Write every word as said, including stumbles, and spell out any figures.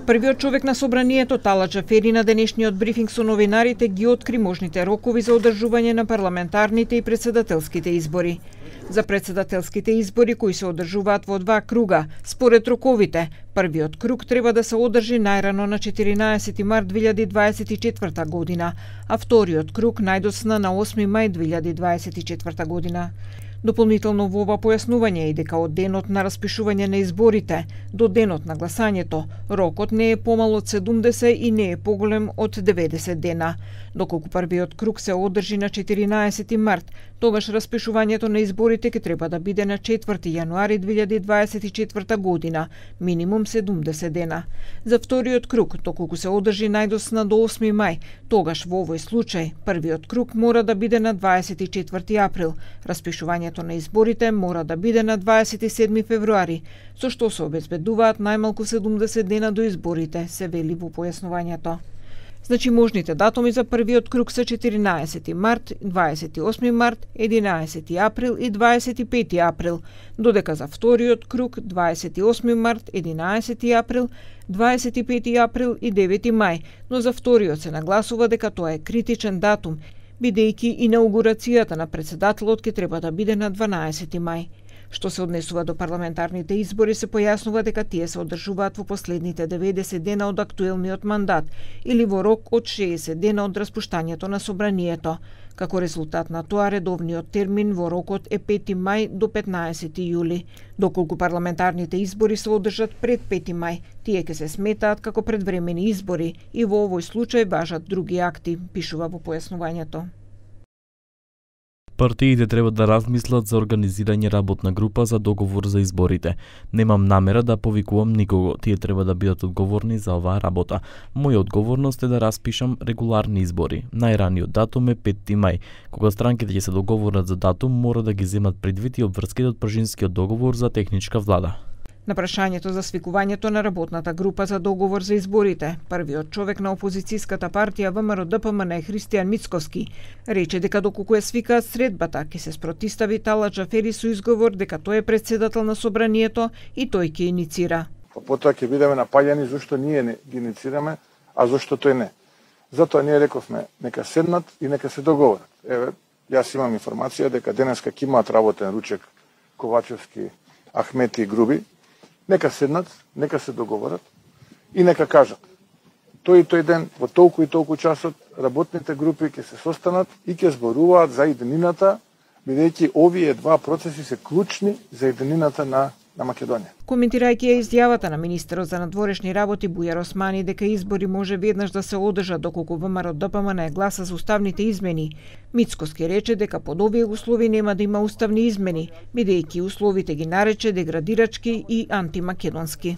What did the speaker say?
Првиот човек на собранието, Тала Џафери, на денешниот брифинг со новинарите ги откри можните рокови за одржување на парламентарните и претседателските избори. За претседателските избори, кои се одржуваат во два круга, според роковите, првиот круг треба да се одржи најрано на четиринаесети март две илјади дваесет и четврта година, а вториот круг најдосна на осми мај две илјади дваесет и четврта година. Дополнително во ова појаснување е дека од денот на распишување на изборите до денот на гласањето, рокот не е помал од седумдесет и не е поголем од деветдесет дена. Доколку првиот круг се одржи на четиринаесети март, тогаш распишувањето на изборите ќе треба да биде на четврти јануари две илјади дваесет и четврта година, минимум седумдесет дена. За вториот круг, доколку се одржи најдосна до осми мај, тогаш во овој случај првиот круг мора да биде на дваесет и четврти април, распишувањето на изборите мора да биде на дваесет и седми февруари, со што се обезбедуваат најмалку седумдесет дена до изборите, се вели во појаснувањето. Значи можните датуми за првиот круг се четиринаесети март, дваесет и осми март, единаесети април и дваесет и пети април, додека за вториот круг дваесет и осми март, единаесети април, дваесет и пети април и девети мај, но за вториот се нагласува дека тоа е критичен датум, бидејќи инаугурацијата на претседателот ќе треба да биде на дванаесети мај. Што се однесува до парламентарните избори, се појаснува дека тие се одржуваат во последните деветдесет дена од актуелниот мандат или во рок од шеесет дена од распуштањето на собранието. Како резултат на тоа, редовниот термин во рокот е пети мај до петнаесети јули. Доколку парламентарните избори се одржат пред пети мај, тие ќе се сметаат како предвремени избори и во овој случај важат други акти, пишува во појаснувањето. Партиите треба да размислат за организирање работна група за договор за изборите. Немам намера да повикувам никого, тие треба да бидат одговорни за оваа работа. Моја одговорност е да распишам регуларни избори. Најраниот датум е петти мај. Кога странките ќе се договорат за датум, мора да ги земат предвид и обврските од Пржинскиот договор за техничка влада. На прашањето за свикувањето на работната група за договор за изборите, првиот човек на опозицијската партија ВМРО-ДПМН Христијан Мицковски рече дека доколку е свикаат средбата, ќе се спротистави Тала Џафери со изговор дека тој е претседател на собранието и тој ќе иницира. Потоа ќе бидеме напаѓани зашто ние не ги иницираме, а зашто тој не. Затоа ние рековме нека седнат и нека се договорат. Еве, јас имам информација дека денеска ќе имаат работен ручек Ковачевски, Ахмети и Груби. Нека седнат, нека се договорат и нека кажат. Тој и тој ден, во толку и толку часот, работните групи ќе се состанат и ќе зборуваат за иденината, бидејќи овие два процеси се клучни за иденината на, на Македонија. Коментирајќи ја изјавата на министерот за надворешни работи Бујар Османи дека избори може веднаш да се одржат доколку ВМРО-ДПМН гласа за уставните измени, Мицковски рече дека под овие услови нема да има уставни измени, бидејќи условите ги нарече деградирачки и антимакедонски.